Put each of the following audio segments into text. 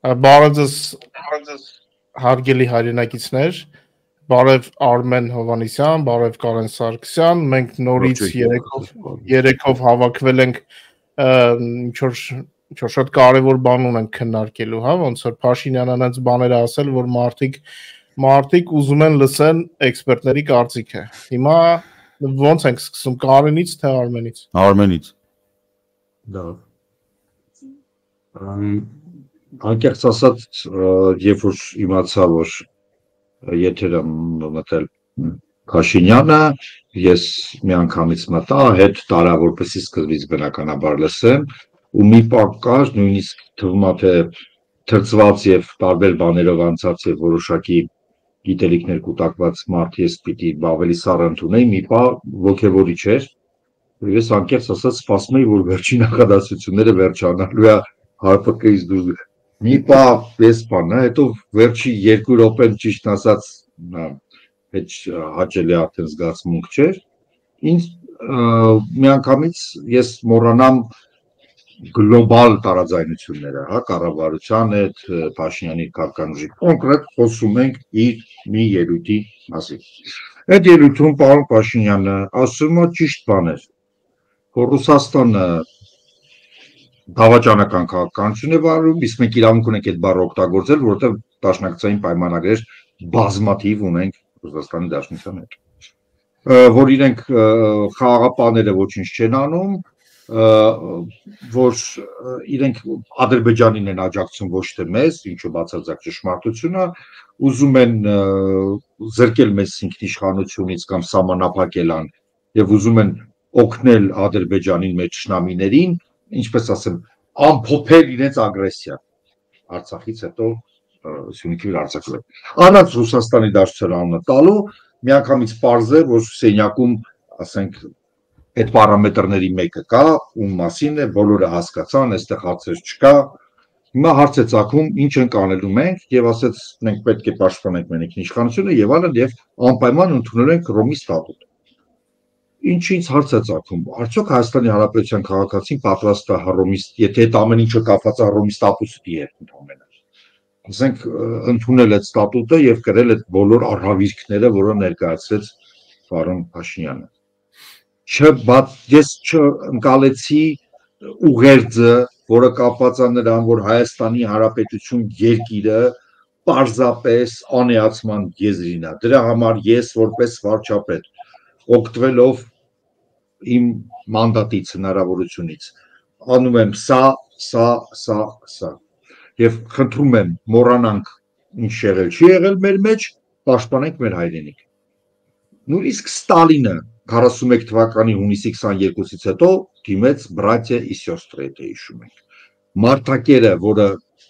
Բարև հարգելի հայրենակիցներ, բարև Արմեն Հովանեսյան, բարև Կարեն Սարգսյան, մենք նորից երեքով հավաքվել ենք ինչ-որ շատ կարևոր բան ունենք քննարկելու, հա, ոնց որ Փաշինյանն այնց բաներ ասել, որ մարդիկ ուզում են լսեն էքսպերտների կարծիքը։ Հիմա ոնց ենք սկսում, Կարենից թե Արմենից։ Արմենից։ Դա անկեղծ ասած, երբ որ իմացա, որ եթեր եմ մտել Փաշինյանը, ես միանգամից մտա, հետ տարա, որպեսզի սկզբից բնականաբար լսեմ, ու մի պահ կար, նույնիսկ թվում է թե թրծված եւ տարբեր բաներով անցած եւ որոշակի գիտելիքներ կուտակված մարդ ես պիտի ավելի սառը ընդունեի, մի պահ ոգևորիչ էր, ես անկեղծ ասած սպասում էի, որ վերջին նախադասությունները վերջանալու է ՀՊԿ-ից դուրս։ Մի պահ ես բանը, հետո վերջի 2 րոպեն ճիշտ ասած հետ հաճելի արդեն զգացմունք չէր։ Ինձ միանգամից ես մոռանամ գլոբալ տարաձայնությունները, հա, կառավարության հետ, Փաշինյանի քաղաքականուժի կոնկրետ խոսում ենք իր մի ելույթի մասին։ Այդ ելույթում պարոն Փաշինյանը ասում է ճիշտ բաներ, որ Ռուսաստանը դավաճանական քաղաքականություն է վարում, իսկ մենք իրավունք ունենք այդ բառը օգտագործել, որովհետև դաշնակցային պայմանագրեր բազմաթիվ ունենք Ռուսաստանի Դաշնության հետ, որ իրենք խաղաղապահները ոչինչ չեն անում, որ իրենք Ադրբեջանին են աջակցում ոչ թե մեզ, ինչը բացարձակ ճշմարտություն է, ուզում են զրկել մեզ ինքնիշխանությունից կամ սահմանափակել ան եւ ուզում են օգնել Ադրբեջանին մեր ճշնամիներին, ինչպես ասեմ, ամփոփել իրենց ագրեսիան Արցախից հետո Սյունիքի վրա արձակվել։ Անաց Ռուսաստանի Դաշնության անունը տալու միանգամից պարզ է, որ սենյակում, ասենք, այդ պարամետրների մեկը կա, ում մասին է, բոլորը հասկացան, այստեղ հարցեր չկա։ Հիմա հարց է ծագում, ինչ ենք անելու մենք, եւ ասեց, մենք պետք է պաշտպանենք մեր ինքնիշխանությունը եւ այլն, եւ անպայման ընդունել ենք Հռոմի ստատուտ։ Ինչից հարց է ծագում, արդյոք Հայաստանի Հանրապետության քաղաքացին պատրաստ է Հռոմի, եթե այդ ամեն ինչը կապված է Հռոմի ստատուտի հետ ընդհանրապես, ասենք, ընդունել այդ ստատուտը եւ կրել այդ բոլոր առհավիրքները, որը ներկայացրեց պարոն Փաշինյանը։ Ես չընկալեցի ուղերձը, որը կապված է նրան, որ Հայաստանի Հանրապետություն երկիրը պարզապես անեացման եզրին է։ Դրա համար ես որպես վարչապետ, օգտվելով իմ մանդատից, հնարավորությունից, անում եմ սա եւ խնդրում եմ մոռանանք ինչ եղել չի եղել մեր մեջ, պաշտպանենք մեր հայրենիք։ Նույնիսկ Ստալինը 41 թվականի հունիսի 22-ից հետո դիմեց բրատյա и сестры, եթե հիշում եք։ Մարտակերը, որը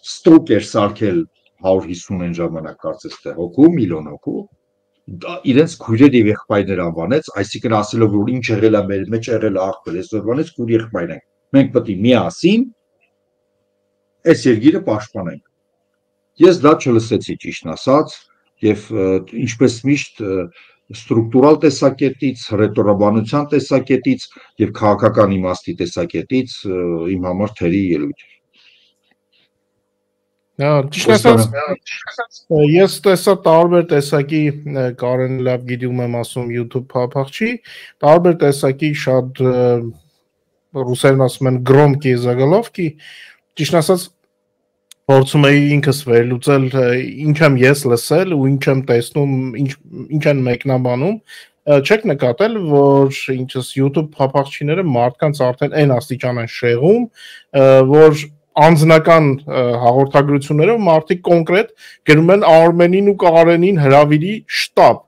ստոկ էր սարքել 150 են ժամանակ կարծես թե հոգու, միլիոն հոգու, իրենց քույրեր եւ եղբայրներ անվանեց, այսինքն ասելով որ ինչ եղել է մեր մեջ եղել աղբեր, այսօրվանից քույր եղբայր ենք։ Մենք պետք է միասին այս երկիրը պաշտպանենք։ Ես դա չլսեցի ճիշտ ասած, եւ ինչպես միշտ ստրուկտուրալ տեսակետից, ռետորաբանության տեսակետից եւ քաղաքական իմաստի տեսակետից իմ համար թերի ելույթ։ Ճիշտ ասած, ես տեսա տարբեր տեսակի, Կարեն լավ գիտում եմ ասում YouTube փափախչի, տարբեր տեսակի շատ ռուսերեն ասում են գրոմկի զագալովկի, ճիշտ ասած փորձում էի ինքս վերլուծել ինչ եմ ես լսել ու ինչ եմ տեսնում, ինչ են մեկնաբանում, չեք նկատել, որ ինչս YouTube փափախչիները մարդկանց արդեն այն աստիճան են շեղում, որ անձնական հաղորդագրություններով մարդիկ կոնկրետ գրում են Արմենին ու Կարենին հրավիրի շտաբ։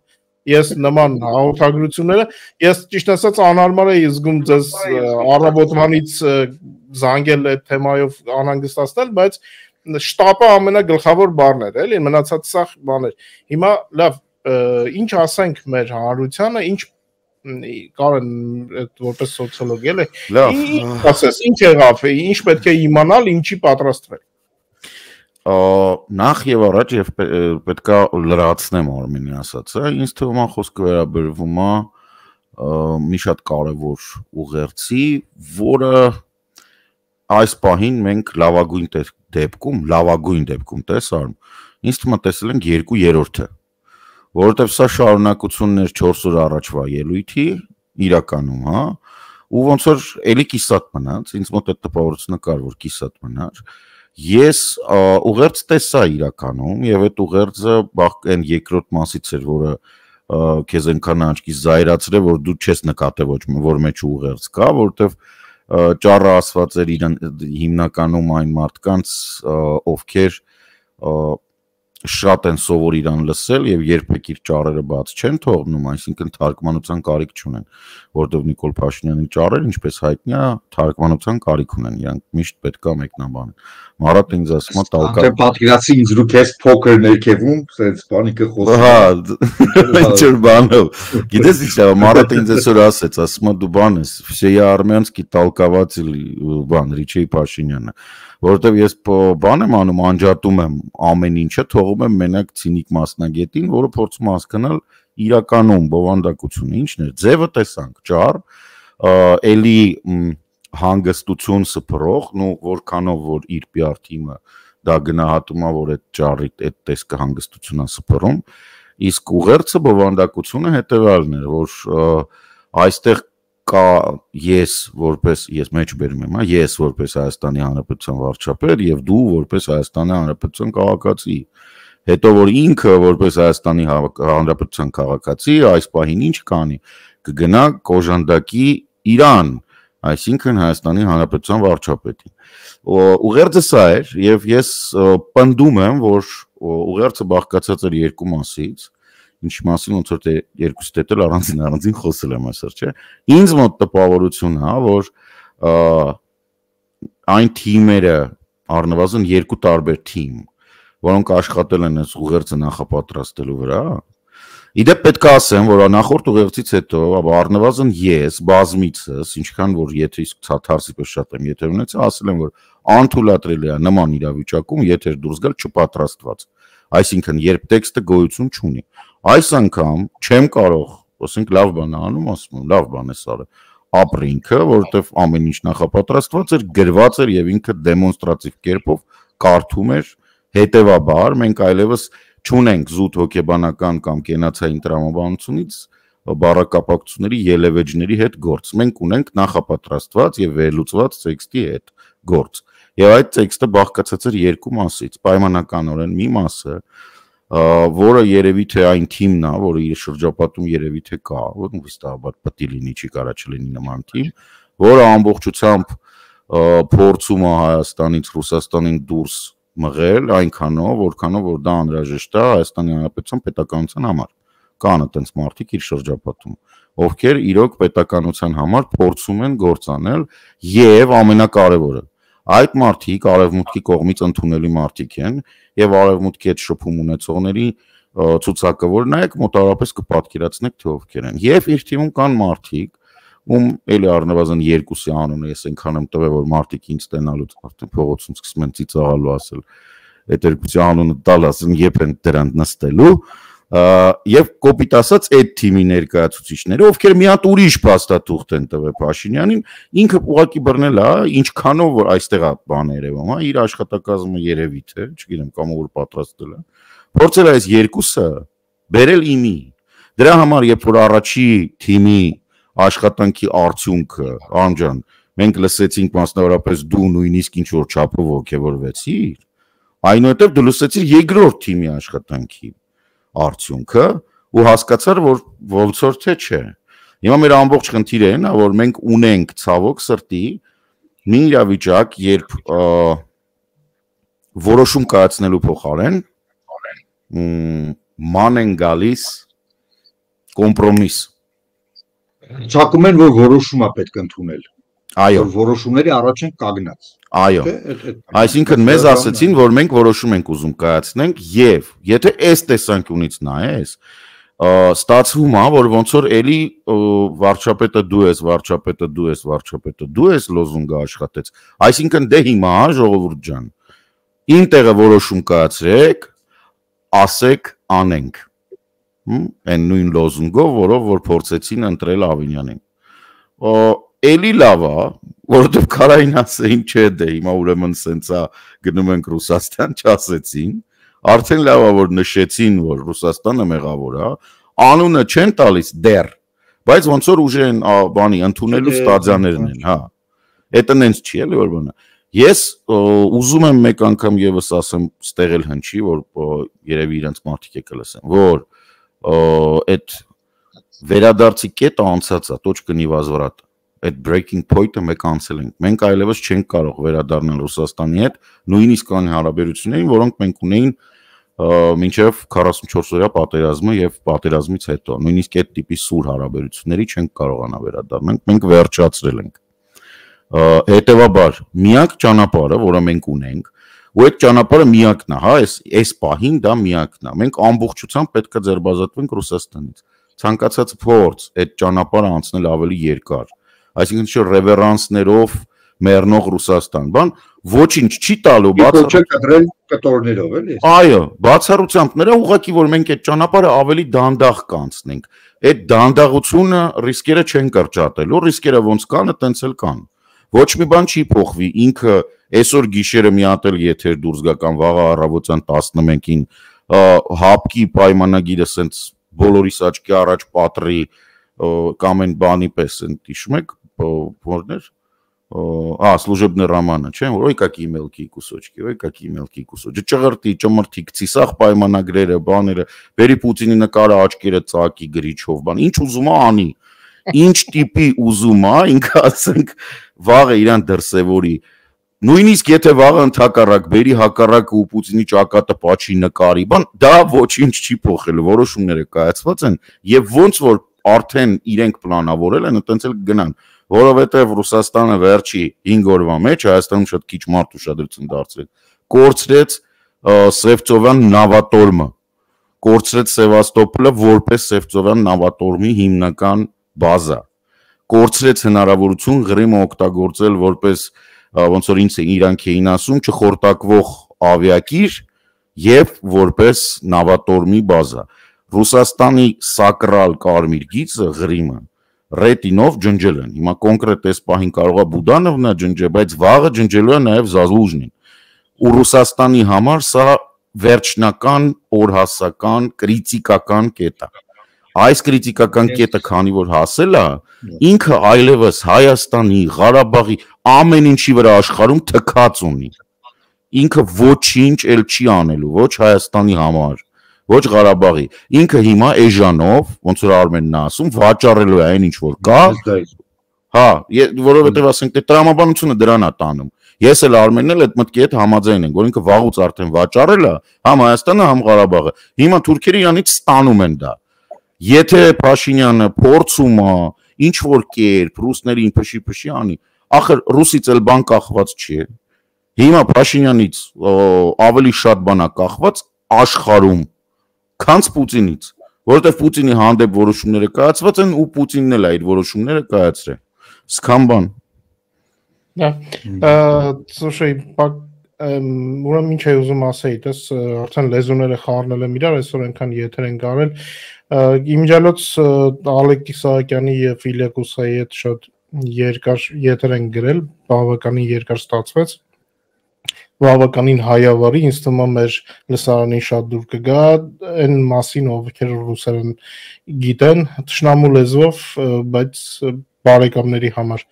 Ես նման հաղորդագրությունները, ես ճիշտ ասած անհարմար էի զգում ձեզ առավոտվանից զանգել այդ թեմայով անհանգստացնել, բայց շտապը ամենագլխավոր բառն էր, էլի, մնացած սա բաներ։ Հիմա լավ, ինչ ասենք մեր հանրությանը, ինչ Կարեն որպես սոցիոլոգ էլի, ինչ ասես, ինչ եղավ, ինչ պետք է իմանալ, ինչի պատրաստվել։ Նախ եւ առաջ եւ պետքա լրացնեմ Արմենի ասածը, ինձ թվում է խոսքը վերաբերվում է մի շատ կարևոր ուղերձի, որը այս պահին մենք լավագույն դեպքում տեսարում, ինձ թվում է տեսել ենք 2/3-ը, որովհետև սա շարունակությունն էր 4 օր առաջվա ելույթի իրականում, հա, ու ոնց որ էլի կիսատ մնաց, ինձ մոտ այդ տպավորությունը կար, որ կիսատ մնար, ես ուղերձ տեսա իրականում եւ այդ ուղերձը այն երկրորդ մասից էր, որը քեզ այնքան աչքից զայրացրել, որ դու չես նկատել որ մեջ ուղերձ կա, որովհետեւ ճառը ասված էր հիմնականում այն մարդկանց, ովքեր շատ են սովոր իրան լսել եւ երբեք իր ճառերը բաց չեն թողնում, այսինքն թարգմանության կարիք չունեն, որովհետեւ Նիկոլ Փաշինյանի ճառերը, ինչպես հայտնի է, թարգմանության կարիք ունեն, իրանք միշտ պետք է մեկնաբանեն։ Մարատ ինձ ասում է տալկա։ Դե պատկերացի ինձ դու քեզ փոքր ներքևում, սենց բանիկը խոսում։ Հա, ինչ որ բանով։ Գիտես ինչ է, Մարատ ինձ այսօր ասեց, ասում է դու բան ես, Всея Армянский толкователь բան Ռիչեյ Փաշինյանը, որովհետև ես բան եմ անում, անջատում եմ ամեն ինչը, թողում եմ մենակ ցինիկ մասնագետին, որը փորձում հասկանալ իրականում բովանդակությունը ինչն է։ Ձևը տեսանք, ճառ, էլի հանգստություն սփռող, նո որքանով որ իր PR թիմը դա գնահատում է, որ այդ ճառի այդ տեսքը հանգստություն է սփռում, իսկ ուղերձը բովանդակությունը հետևյալն էր, որ այստեղ կա ես մեջ բերում եմ, ես որպես Հայաստանի Հանրապետության վարչապետ եւ դու որպես Հայաստանի Հանրապետության քաղաքացի։ Հետո որ ինքը որպես Հայաստանի Հանրապետության քաղաքացի այս պահին ինչ կանի, կգնա կոժանդակի Իրան, այսինքն Հայաստանի Հանրապետության վարչապետին։ Ուղերձը սա էր եւ ես պնդում եմ, որ ուղերձը բաղկացած էր երկու մասից, ինչ մասին ոնց որ երկուսի հետ էլ առանձին խոսել եմ այսօր, չէ։ Ինձ մոտ տպավորություն է, որ այն թիմերը առնվազն երկու տարբեր թիմ, որոնք աշխատել են այս ուղերձը նախապատրաստելու վրա, իդեպ պետք է ասեմ, որ նախորդ ուղերձից հետո առնվազն ես բազմիցս, ինչքան որ եթե իսկ թարսիպես շատ եմ եթե ունեցա, ասել եմ, որ անթույլատրելի է նման իրավիճակում եթե դուրս գալ չպատրաստված, այսինքն երբ տեքստը գոյություն չունի։ Այս անգամ չեմ կարող, ասենք լավ բան է անում, ասում եմ, լավ բան է սարը, ապրինքը, որովհետև ամեն ինչ նախապատրաստված էր, գրված էր եւ ինքը դեմոնստրատիվ կերպով կարդում էր, հետեւաբար մենք այլևս չունենք զուտ հոգեբանական կամ կենացային տրամաբանությունից բառակապակցությունների ելևէջների հետ գործ։ Մենք ունենք նախապատրաստված եւ վերլուծված տեքստի հետ գործ։ Եվ այդ տեքստը բաղկացած էր երկու մասից, պայմանականորեն մի մասը, որը երևի թե այն թիմն է, որը իր շրջապատում երևի թե կա, որ վստահաբար պետք է լինի, չի կարա չլինի նման թիմ, որը ամբողջությամբ փորձում է Հայաստանից Ռուսաստանին դուրս մղել այնքանով, որքանով որ դա անհրաժեշտ է Հայաստանի Հանրապետության պետականության համար։ Կան այդպես մարդիկ իր շրջապատում, ովքեր իրոք պետականության համար փորձում են գործանել եւ ամենակարևորը այդ մարդիկ արևմուտքի կողմից ընդունելի մարդիկ են եւ արևմուտքի հետ շփում ունեցողների ցուցակը, որ նայեք մոտավորապես կպատկերացնեք թե ովքեր են։ Եվ իր թիմում կան մարդիկ, ում էլի առնվազն երկուսի անունը ես այնքան եմ տվել, որ մարդիկ ինձ ստենալուց արդեն փողոցում սկսում են ծիծաղալու ասել, այդ երկուսի անունը տալ ասեն, երբ են դրան նստելու, եւ կոպիտ ասած այդ թիմի ներկայացուցիչները, ովքեր մի հատ ուրիշ փաստաթուղթ են տվել Փաշինյանին, ինքը ուղղակի բռնել է, ինչքանով որ այստեղ է բան երևում, հա, իր աշխատակազմը երևի թե, չգիտեմ, կամ որ պատրաստել է։ Փորձել է այս երկուսը բերել իմի։ Դրա համար, երբ որ առաջի թիմի աշխատանքի արդյունքը, անջան, մենք լսեցինք մասնավորապես դու նույնիսկ ինչ որ չափով ոգևորվեցիր, այնուհետև դու լսեցիր երկրորդ թիմի աշխատանքի արդյունքը ու հասկացար, որ ոնց որ թե չէ։ Հիմա մեր ամբողջ խնդիրը այն է, որ մենք ունենք ցավոք սրտի մի իրավիճակ, երբ որոշում կայացնելու փոխարեն ման են գալիս կոմպրոմիս։ Ցակում են, որ որոշում է պետք ընդունել։ Այո, որ որոշումների առաջ են կանգնած։ Այո։ Այսինքն մեզ ասացին, որ մենք որոշում ենք ուզում կայացնենք եւ եթե այս տեսանկյունից նայես, ստացվում է, որ ոնց որ էլի վարչապետը դու ես, վարչապետը դու ես, վարչապետը դու ես լոզունգը աշխատեց։ Այսինքն դե հիմա ժողովուրդ ջան, իմ տեղը որոշում կայացրեք, ասեք, անենք։ Այն նույն լոզունգով, որով որ փորձեցին ընտրել Ավինյանին։ Էլի լավ է, որովհետև Կարային ասեին, չէ, դե հիմա ուրեմն սենցա գնում ենք Ռուսաստան, չասեցին, արդեն լավ է որ նշեցին, որ Ռուսաստանը մեղավոր է, անունը չեն տալիս դեռ, բայց ոնց որ ուժ են բանի ընդունելու ստադիաներն են, հա։ Էդը նենց չի էլի որ բանը։ Ես ուզում եմ մեկ անգամ եւս ասեմ, ստեղ էլ հնչի, որ երևի իրենց մարդիկ եկել ասեն, որ այդ վերադարձի կետը անցած է, точка невозврата։ Այդ breaking point-ը մեկ անցել ենք։ Մենք այլևս չենք կարող վերադառնալ Ռուսաստանի հետ, նույնիսկ այն հարաբերություններին, որոնք մենք ունեին մինչև 44-օրյա պատերազմը եւ պատերազմից հետո։ Նույնիսկ այդ տիպի սուր հարաբերությունների չենք կարողանա վերադառնալ, մենք վերջացրել ենք։ Հետևաբար, միակ ճանապարհը, որը մենք ունենք, ու այդ ճանապարհը միակն է, հա, այս պահին դա միակն է։ Մենք ամբողջությամբ պետք է ձերբազատվենք Ռուսաստանից։ Ցանկացած փորձ այդ ճանապարհը անցնել ավելի երկար, այսինքն չէ ռևերանսներով մեռնող Ռուսաստան, բան ոչինչ չի տալու բացառությամբ կտրել կտորներով էլի։ Այո, բացառությամբ նրա ուղղակի որ մենք այդ ճանապարհը ավելի դանդաղ կանցնենք։ Այդ դանդաղությունը ռիսկերը չեն կրճատելու, ռիսկերը ոնց կան, այտենց էլ կան։ Ոչ մի բան չի փոխվի, ինքը այսօր գիշերը մի հատ էլ եթեր դուրս գա կամ վաղը առավոտյան 11-ին հապկի պայմանագիրը սենց բոլորիս աչքի առաջ պատրի կամ այն բանի պես են հիշում եք որներ служебный романы, չէ՞, որ ой какие мелкие кусочки, ой какие мелкие кусочки, ճղրտի, ճմրթի, գցի, սաղ պայմանագրերը, բաները, բերի Պուտինի նկարը աչքերը ծակի գրիչով, բան, ինչ ուզում է անի, ինչ տիպի ուզում է, ինքը ասենք վաղը իրան դրսևորի, նույնիսկ եթե վաղը ընդհակառակ բերի հակառակը ու Պուտինի ճակատը պաչի նկարի, բան, դա ոչինչ չի փոխել, որոշումները կայացված են եւ ոնց որ արդեն իրենք պլանավորել են, այտենց էլ գնան, որովհետեւ Ռուսաստանը վերջի 5 օրվա մեջ Հայաստանում շատ քիչ մարդ ուշադրություն դարձրեց, կորցրեց Սևծովյան նավատորմը, կորցրեց Սևաստոպոլը որպես Սևծովյան նավատորմի հիմնական բազա, կորցրեց հնարավորություն Ղրիմը օգտագործել որպես ոնց որ ինձ իրանք էին ասում չխորտակվող ավիակիր եւ որպես նավատորմի բազա։ Ռուսաստանի սակրալ կարմիր գիծը Ղրիմը ռետինով ջնջել են։ Հիմա կոնկրետ այս պահին կարող է Բուդանովնա ջնջել, բայց վաղը ջնջելու է նաեւ Զազլուժնին։ Ու Ռուսաստանի համար սա վերջնական օրհասական կրիտիկական կետ է։ Այս կրիտիկական կետը քանի որ հասել է, ինքը այլևս Հայաստանի, Ղարաբաղի ամեն ինչի վրա աշխարհում թքած ունի։ Ինքը ոչինչ էլ չի անելու, ոչ Հայաստանի համար, ոչ Ղարաբաղի։ Ինքը հիմա էժանով, ոնց որ Արմենն է ասում, վաճառելու է այն ինչ որ կա։ Հա, որովհետև ասենք թե տրամաբանությունը դրան է տանում։ Ես էլ Արմենն էլ այդ մտքի հետ համաձայն ենք, որ ինքը վաղուց արդեն վաճառել է, համ Հայաստանը, համ Ղարաբաղը։ Հիմա թուրքերը իրանից ստանում են դա։ Եթե Փաշինյանը փորձում է ինչ որ կերպ ռուսներին փշի անի, ախր ռուսից էլ բան կախված չի։ Հիմա Փաշինյանից ավելի շատ բան է կախված աշխարհում, քան Պուտինից, որովհետև Պուտինի հանդեպ որոշումները կայացված են ու Պուտինն էլ այդ որոշումները կայացրել։ Սկան բան։ Դա, слушай, ուրեմն ինչ եմ ուզում ասեի, դες արդեն լեզուները խառնել եմ իրար, այսօր այնքան եթեր են կարել։ Իմիջիալոց Ալեքս Սահակյանի եւ Իլյա Կուսայի հետ շատ երկար եթեր են գրել, բավականին երկար ստացվեց։ Բավականին հայավարի, ինձ թվում է մեր լսարանին շատ դուր կգա այն մասին, ովքեր ռուսերեն գիտեն, թշնամու լեզվով, բայց բարեկամների համար։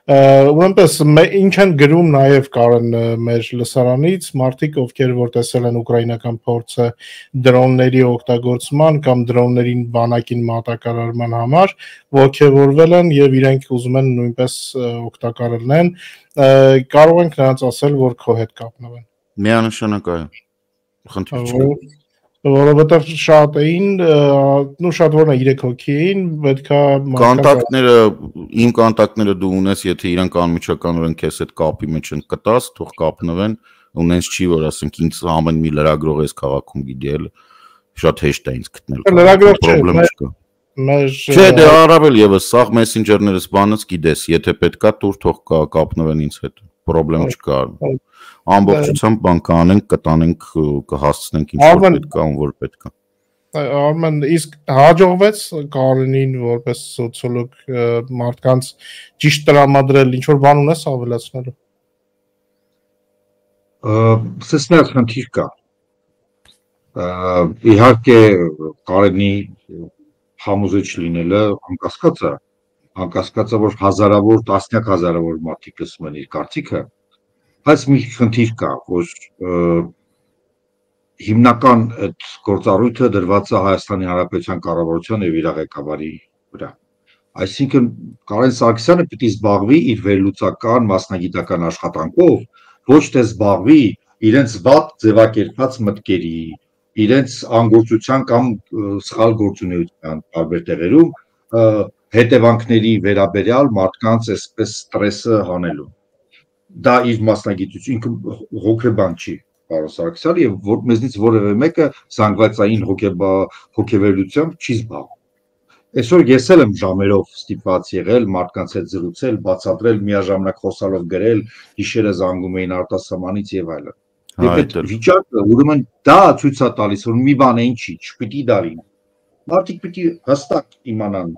Ուրեմպես ինչ են գրում նաև Կարեն մեր լսարանից, մարդիկ, ովքեր որ տեսել են ուկրաինական փորձը դրոնների օգտագործման կամ դրոններին բանակին մատակարարման համար, ողջևորվել են եւ իրենք ուզում են նույնպես օգտակարելն, կարող ենք նրանց ասել, որ քո հետ կապնվեն։ Միանշանակ այո։ Խնդիր չկա։ Որովհետև շատ էին, նու շատ որն է 3 հոգի էին, պետքա կոնտակտները, իմ կոնտակտները դու ունես, եթե իրանք անմիջականորեն քեզ հետ կապի մեջ են կտած, թող կապնվեն, ունես չի, որ ասենք ինձ ամեն մի լրագրող էս քաղաքում գիտել, շատ հեշտ է ինձ գտնել։ Լրագրող պրոբլեմ չկա։ Չէ, դե առավել եւս սաղ մեսենջերներս բանից գիտես, եթե պետքա դուր թող կապնվեն ինձ հետ, պրոբլեմ չկա։ Ամբողջությամբ բան կանենք, կտանենք, կհասցնենք ինչ որ պետք է, ում որ պետք է։ Արմեն իսկ հաջողվեց Կարենին որպես սոցիոլոգ մարդկանց ճիշտ տրամադրել ինչ որ բան ունես ավելացնելու։ Սեսնած խնդիր կա։ Իհարկե Կարենի համոզիչ լինելը անկասկած է, որ հազարավոր, տասնյակ հազարավոր մարդիկ լսում են իր կարծիքը, բայց մի խնդիր կա, որ հիմնական այդ գործառույթը դրված է Հայաստանի Հանրապետության կառավարության եւ իր ղեկավարի վրա։ Այսինքն Կարեն Սարգսյանը պիտի զբաղվի իր վերլուծական մասնագիտական աշխատանքով, ոչ թե զբաղվի իրենց վատ ձևակերպված մտքերի, իրենց անգործության կամ սխալ գործունեության տարբեր տեղերում հետևանքների վերաբերյալ մարդկանց այսպես ստրեսը հանելու։ Դա իր մասնագիտություն, ինքը հոգեբան չի, պարոն Սարգսյանը, եւ մեզնից որևէ մեկը զանգվածային հոգեվերլուծությամբ չի զբաղվում։ Այսօր ես էլ եմ ժամերով ստիպված եղել մարդկանց հետ զրուցել, բացատրել, միաժամանակ խոսալով գրել, գիշերը զանգում էին արտասահմանից եւ այլն։ Այդ վիճակը ուրեմն դա ցույց է տալիս, որ մի բան է ինչի, չպիտի դա լինի։ Մարդիկ պիտի հստակ իմանան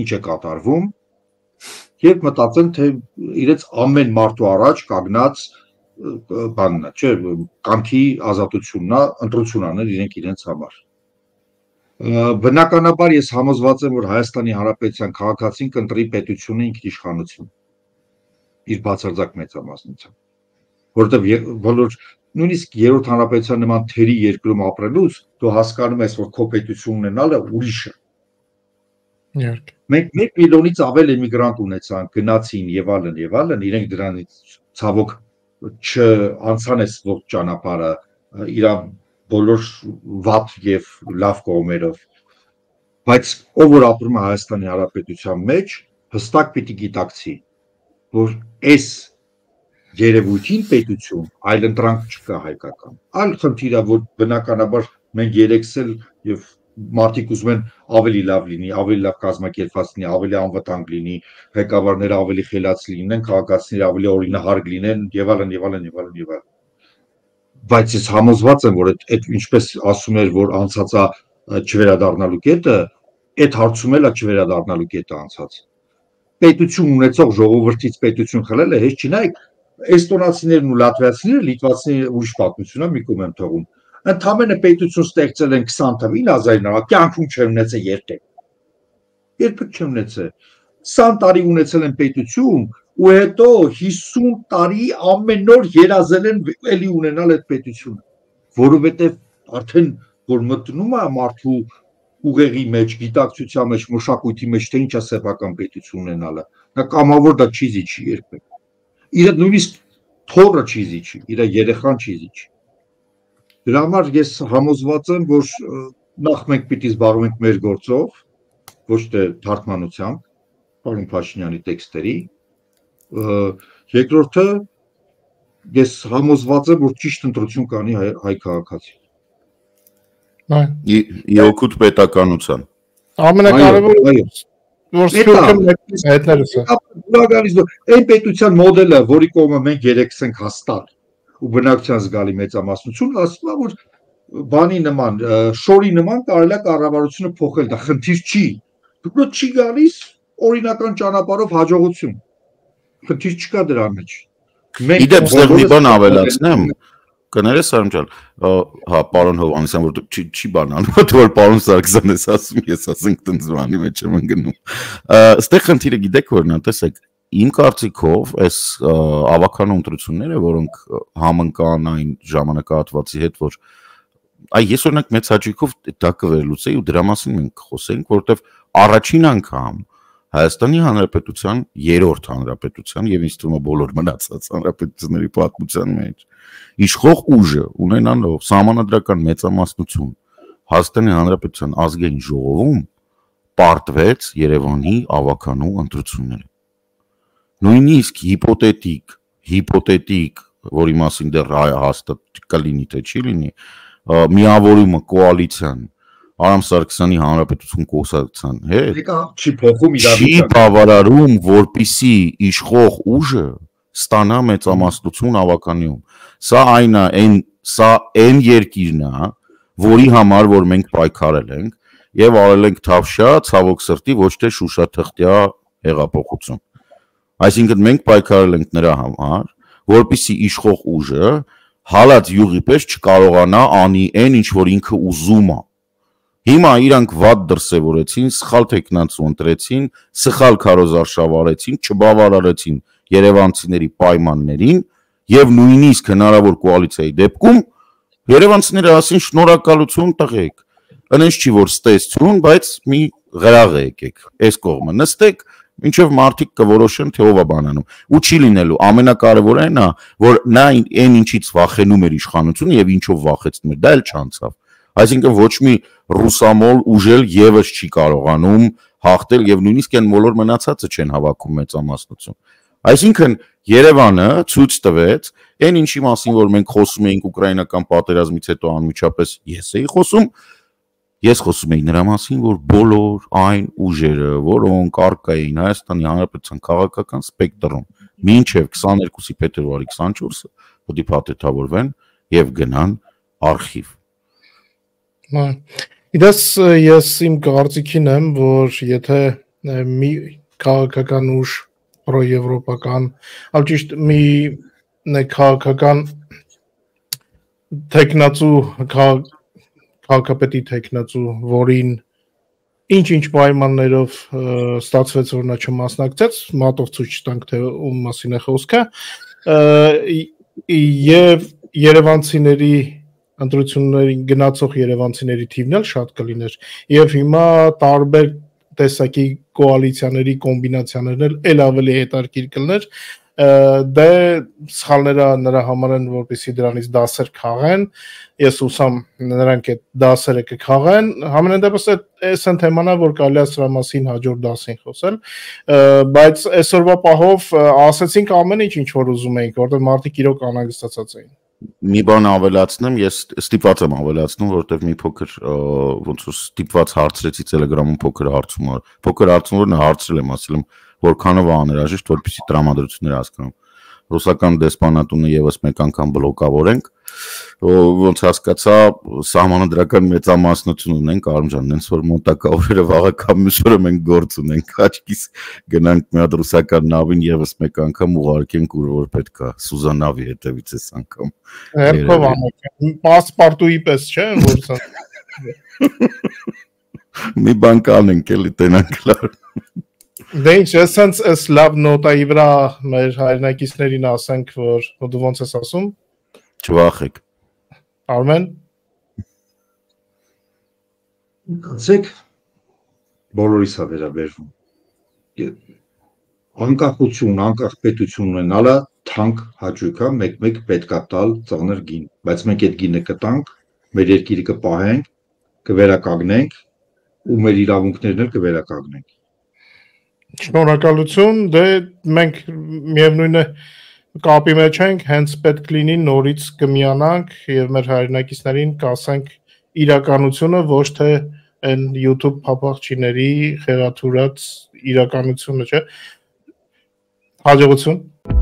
ինչ է կատարվում եւ մտածեն, թե իրենց ամեն մարդու առաջ կանգնած բանն է, չէ, կամքի ազատությունն է, ընտրություն անել իրենց համար։ Բնականաբար ես համոզված եմ, որ Հայաստանի Հանրապետության քաղաքացին կընտրի պետությունը ինքնիշխանություն իր բացարձակ մեծամասնությամբ, որովհետև բոլոր նույնիսկ երրորդ հանրապետության նման թերի երկրում ապրելուց դու հասկանում ես, որ քո պետություն ունենալը ուրիշ է։ Մենք 1 միլիոնից ավել էմիգրանտ ունեցանք, գնացին եւ այլն, իրենք դրանից ցավոք չանցան այս ողջ ճանապարհը իր բոլոր վատ եւ լավ կողմերով, բայց ով որ ապրում է Հայաստանի Հանրապետության մեջ, հստակ պիտի գիտակցի, որ այս երևույթին պետություն այլ ընտրանք չկա հայկական։ Այլ խնդիր է, որ բնականաբար մենք երեքսել եւ մարդիկ ուզում են ավելի լավ լինի, ավելի լավ կազմակերպված լինի, ավելի անվտանգ լինի, ղեկավարները ավելի խելաց լինեն, քաղաքացիները ավելի օրինահարկ լինեն եւ այլն։ Բայց ես համոզված եմ, որ այդ ինչպես ասում էր, որ անցածա չվերադառնալու կետը, այդ հարցում էլ է չվերադառնալու կետը անցած։ Պետություն ունեցող ժողովրդից պետություն խլելը հեչ չի, նայեք, էստոնացիներն ու լատվիացիները, լիտվացիները ուրիշ պատմություն է մի կողմ են թողում։ Ընդամենը պետություն ստեղծել են 20 թվականին, կյանքում չունեցել երբեք չունեցել։ 20 տարի ունեցել են պետություն ու հետո 50 տարի ամեն օր երազել են էլի ունենալ այդ պետությունը, որովհետև արդեն որ մտնում է մարդու ուղեղի մեջ, գիտակցության մեջ, մշակույթի մեջ, թե ինչ է սեփական պետություն ունենալը, նա կամավոր դա չի զիջի երբեք։ Իր նույնիսկ թորը չի զիջի, իր երեխան չի զիջի։ Դրա համար ես համոզված եմ, որ նախ մենք պիտի զբաղվենք մեր գործով, ոչ թե թարգմանությամբ, պարոն Փաշինյանի տեքստերի, երկրորդը ես համոզված եմ, որ ճիշտ ընտրություն կանի հայ քաղաքացի։ Իօգուտ պետականության։ Ամենակարևորը որ սփյուռքը մեկից հետներս է։ Այն պետության մոդելը, որի կողմը մենք երեքս ենք հաստատ ու բնակչության զգալի մեծամասնություն, ասում է, որ բանի նման, շորի նման կարելի է կառավարությունը փոխել, դա խնդիր չի։ Դուք չի գալիս օրինական ճանապարհով հաջողություն։ Խնդիր չկա դրա մեջ։ Իդեպ ստեղ մի բան ավելացնեմ, կներես Արամ ջան, հա, պարոն Հովհաննիսյան, որ չի բանանում, որ պարոն Սարգսյանն էս ասում, ես ասենք տնձ բանի մեջ եմ ընկնում։ Ստեղ խնդիրը գիտեք որն է, տեսեք, իմ կարծիքով այս ավականու ընտրությունները, որոնք համընկան այն ժամանակահատվածի հետ, որ ես օրինակ մեծ հաճույքով դա կվերլուծեի ու դրա մասին մենք խոսենք, որովհետև առաջին անգամ Հայաստանի Հանրապետության երրորդ հանրապետության եւ ինձ թվում է բոլոր մնացած հանրապետությունների պատմության մեջ իշխող ուժը ունենալով սահմանադրական մեծամասնություն Հայաստանի Հանրապետության ազգային ժողովում պարտվեց Երևանի ավականու ընտրությունները։ Նույնիսկ հիպոթետիկ, որի մասին դեռ հաստատ կլինի թե չի լինի, միավորումը կոալիցիան Արամ Սարգսյանի Հանրապետություն կուսակցության հետ չի բավարարում, որպիսի իշխող ուժը ստանա մեծամասնություն ավականիում։ Սա այն երկիրն է, որի համար որ մենք պայքարել ենք եւ արել ենք թավշյա, ցավոք սրտի ոչ թե շուշաթղթյա հեղափոխություն։ Այսինքն մենք պայքարել ենք նրա համար, որպեսզի իշխող ուժը հալած յուղի պես չկարողանա անի այն ինչ որ ինքը ուզում է։ Հիմա իրանք վատ դրսևորեցին, սխալ տեխնացու ընտրեցին, սխալ քարոզարշավ արեցին, չբավարարեցին երևանցիների պայմաններին եւ նույնիսկ հնարավոր կոալիցիայի դեպքում երևանցիները ասին շնորհակալություն տղեկ։ Այնպես չի որ ստեսություն, բայց մի գրաղ եկեք, այս կողմը նստեք, ինչեւ մարդիկ կորոշեն թե ով է բանանում։ Ու չի լինելու, ամենակարևորը այն է, որ նա այն ինչից վախենում էր իշխանությունը եւ ինչով վախեցնում էր, դա էլ չանցավ։ Այսինքն ոչ մի ռուսամոլ ուժել եւս չի կարողանում հաղթել եւ նույնիսկ այն բոլոր մնացածը չեն հավաքում մեծամասնություն։ Այսինքն Երևանը ցույց տվեց այն ինչի մասին որ մենք խոսում էինք ուկրաինական պատերազմից հետո անմիջապես ես խոսում էի նրա մասին որ բոլոր այն ուժերը որոնք առկա էին Հայաստանի Հանրապետության քաղաքական սպեկտրում մինչև 22-ի փետրվարի 24-ը պետք է փաթեթավորվեն եւ գնան արխիվ։ Իդես ես իմ կարծիքին եմ որ եթե մի քաղաքական ուժ պրոեվրոպական, այլ ճիշտ մի քաղաքական տեխնացու քաղաքապետի տեխնացու, որին ինչ պայմաններով ստացվեց որ նա չմասնակցեց, մատով ցույց տանք թե ում մասին է խոսքը, եւ երևանցիների ընտրություններին գնացող երևանցիների թիվն էլ շատ կլիներ եւ հիմա տարբեր տեսակի կոալիցիաների կոմբինացիաներն էլ ավելի հետաքրքիր կլներ դե սխալները նրա համար են որպեսզի դրանից դասեր քաղեն ես ուսամ նրանք այդ դասերը կքաղեն համենայն դեպս այս են թեմանա որ կարելի է սրա մասին հաջորդ դասին խոսել բայց այսօրվա պահով ասեցինք ամեն ինչ որ ուզում էինք որտեղ մարդիկ իրոք անհանգստացած էին մի բան ավելացնեմ, ես ստիպված եմ ավելացնում, որովհետև մի փոքր ոնց որ ստիպված հարցրեցի Telegram-ում փոքր հարցում որ նա հարցրել եմ, ասել եմ, որքանով է անհրաժեշտ, որպեսզի տրամադրությունները հասկանամ։ Ռուսական դեսպանատունը եւս մեկ անգամ բլոկավորենք, ոնց հասկացա, սահմանադրական մեծամասնություն ունենք, Արամ ջան, նենց որ մոտակա օրերը վաղը կամ մյուս օրը մենք գործ ունենք, աչքիս գնանք մի հատ ռուսական նավին եւս մեկ անգամ ուղարկենք ուր որ պետք է, Սուզանավի հետևից էս անգամ։ Հերթով անենք, պասպորտուի պես, չէ՞, որ սա։ Մի բան կանենք, էլի տենանք լավ։ Դե ինչ, ես լավ նոտայի վրա մեր հայրենակիցներին ասենք, որ դու ոնց ես ասում։ Չվախեք։ Արմեն։ Գացեք բոլորիս է վերաբերվում։ Անկախություն, անկախ պետություն ունենալը թանկ հաճույք է, մեկ պետք է տալ ծանր գին, բայց մենք այդ գինը կտանք, մեր երկիրը կպահենք, կվերականգնենք ու մեր իրավունքներն էլ կվերականգնենք։ Շնորհակալություն, դե մենք միևնույն է կապի մեջ ենք, հենց պետք լինի նորից կմիանանք եւ մեր հայրենակիցներին կասենք իրականությունը, ոչ թե այն YouTube փապաղչիների խեղաթուրած իրականությունը, չէ։ Հաջողություն։